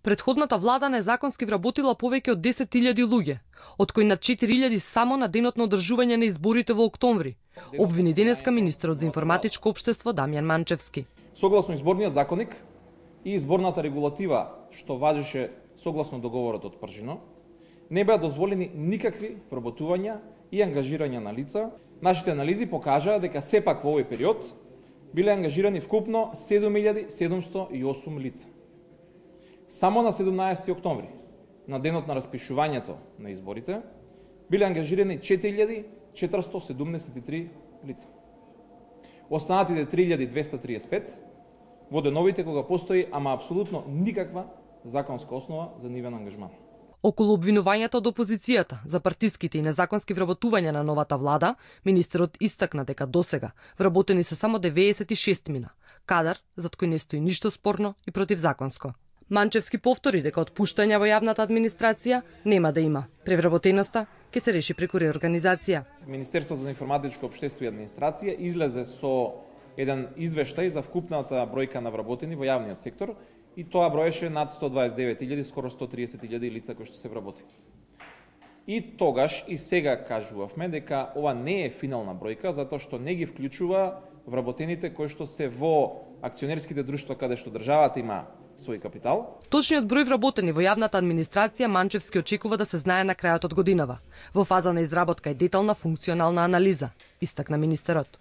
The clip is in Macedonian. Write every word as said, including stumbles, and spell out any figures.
Предходната влада незаконски вработила повеќе од десет илјади луѓе, од кои над четири илјади само на денот на одржување на изборите во октомври, обвини денеска министерот за информатичко општество Дамјан Манчевски. Согласно изборниот законник и изборната регулатива што важеше согласно договорот од Пржино, не беа дозволени никакви вработувања и ангажирања на лица. Нашите анализи покажаа дека сепак во овој период биле ангажирани вкупно седум илјади седумсто и осум лица. Само на седумнаесети октомври, на денот на распишувањето на изборите, биле ангажирани четири илјади четиристо седумдесет и три лица. Останатите три илјади двесте триесет и пет во деновите кога постои ама апсолутно никаква законска основа за нивен ангажман. Околу обвинувањата од опозицијата за партиските и незаконски вработувања на новата влада, министерот истакна дека досега вработени се само деветдесет и шест мина, кадар зад кој не стои ништо спорно и противзаконско. Манчевски повтори дека отпуштања во јавната администрација нема да има. Превработеноста ќе се реши преку реорганизација. Министерството за информатичко општество и администрација излезе со еден извештај за вкупната бројка на вработени во јавниот сектор и тоа броеше над сто дваесет и девет илјади, скоро сто триесет илјади лица кои што се вработени. И тогаш и сега кажувавме дека ова не е финална бројка затоа што не ги вклучува вработените кои што се во акционерските друштва каде што државата има свој капитал. Точниот број вработени во јавната администрација Манчевски очекува да се знае на крајот од годинава. Во фаза на изработка е детална функционална анализа, истакна министерот.